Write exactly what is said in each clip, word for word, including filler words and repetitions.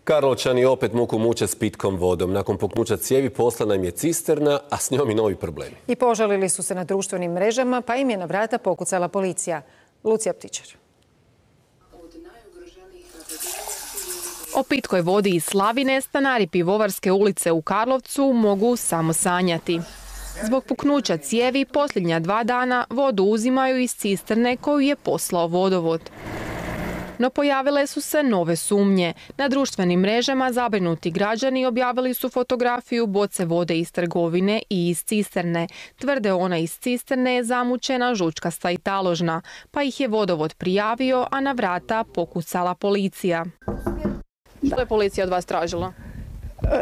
Karlovčani opet muku muče s pitkom vodom. Nakon puknuća cijevi poslana im je cisterna, a s njom i novi problemi. I požalili su se na društvenim mrežama, pa im je na vrata pokucala policija. Lucija Ptičar. O pitkoj vodi iz Slavine stanari Pivovarske ulice u Karlovcu mogu samo sanjati. Zbog puknuća cijevi posljednja dva dana vodu uzimaju iz cisterne koju je poslao vodovod. No pojavile su se nove sumnje. Na društvenim mrežama zabrinuti građani objavili su fotografiju boce vode iz trgovine i iz cisterne. Tvrde ona iz cisterne je zamučena, žučkasta i taložna, pa ih je vodovod prijavio, a na vrata pokucala policija. Što je policija od vas tražila?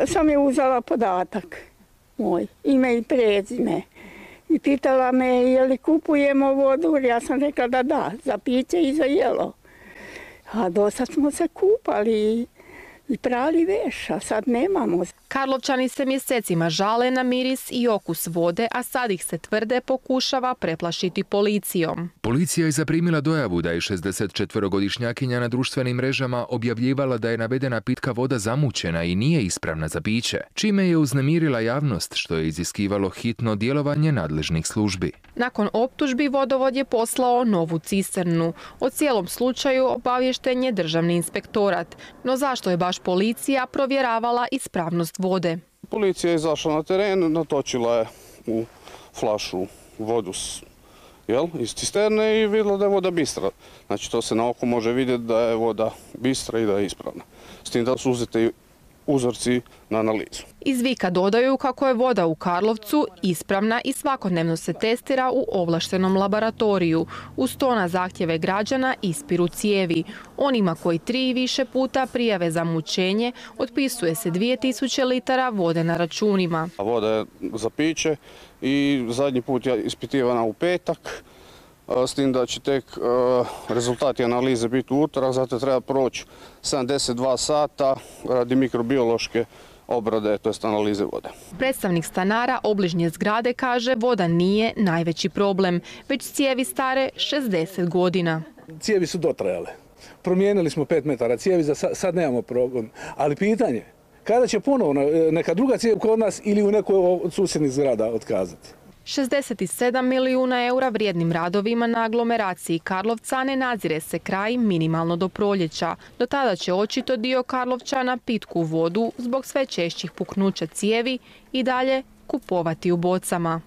Sam je uzela podatak moj, ime i prezime. I pitala me je li kupujemo vodu, ja sam rekla da da, za piće i za jelo. A dosad smo se kupali i prali veš, a sad nemamo. Karlovčani se mjesecima žale na miris i okus vode, a sad ih se tvrde pokušava preplašiti policijom. Policija je zaprimila dojavu da je šezdesetčetverogodišnjakinja na društvenim mrežama objavljivala da je navedena pitka voda zamućena i nije ispravna za piće, čime je uznemirila javnost, što je iziskivalo hitno djelovanje nadležnih službi. Nakon optužbi vodovod je poslao novu cisternu. O cijelom slučaju obaviješten je Državni inspektorat. No zašto je baš policija provjeravala ispravnost vode? Policija je izašla na teren, natočila je u flašu vodu jel, iz cisterne i vidjela da je voda bistra. Znači to se na oko može vidjeti da je voda bistra i da je ispravna. S tim da su uzeti uzorci na analizu. Iz Vika dodaju kako je voda u Karlovcu ispravna i svakodnevno se testira u ovlaštenom laboratoriju. Uz to na zahtjeve građana ispiru cijevi. Onima koji tri i više puta prijave za mučenje otpisuje se dvije tisuće litara vode na računima. Voda je za piće i zadnji put je ispitivana u petak, s tim da će tek rezultati analize biti u utorak, zato treba proći sedamdeset dva sata radi mikrobiološke obrade, to jest analize vode. Predstavnik stanara obližnje zgrade kaže voda nije najveći problem, već cijevi stare šezdeset godina. Cijevi su dotrajale. Promijenili smo pet metara cijevi, za sad nemamo problem. Ali pitanje, kada će ponovno neka druga cijev kod nas ili u nekoj od susjednih zgrada otkazati? šezdeset sedam milijuna eura vrijednim radovima na aglomeraciji Karlovca ne nadzire se kraj minimalno do proljeća. Do tada će očito dio Karlovčana pitku vodu zbog sve češćih puknuća cijevi i dalje kupovati u bocama.